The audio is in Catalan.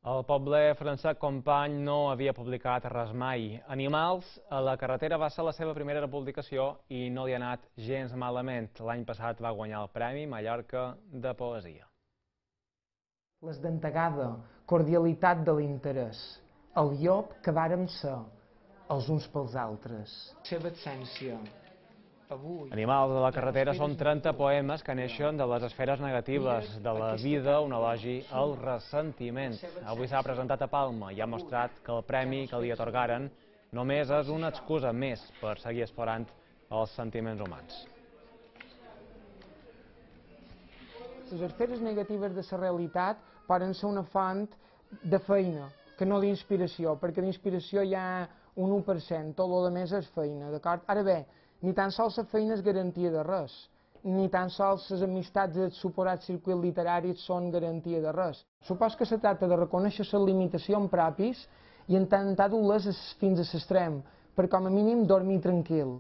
El poble Francesc Company no havia publicat res mai. Animals a la carretera va ser la seva primera publicació i no li ha anat gens malament. L'any passat va guanyar el Premi Mallorca de Poesia. Les dentegada, cordialitat de l'interès, el llop que vàrem ser, els uns pels altres. Seva essència. Animals a la carretera són 30 poemes que neixen de les esferes negatives de la vida, un elogi al ressentiment. Avui s'ha presentat a Palma i ha mostrat que el premi que li atorgaren només és una excusa més per seguir explorant els sentiments humans. Les esferes negatives de la realitat poden ser una font de feina, que no d'inspiració, perquè d'inspiració hi ha un 1%, tot el més és feina, d'acord? Ara bé, ni tan sols la feina és garantia de res, ni tan sols les amistats del suposat circuit literari són garantia de res. Supos que se tracta de reconèixer les limitacions pròpies i intentar dur-les fins a l'extrem, per com a mínim dormir tranquil.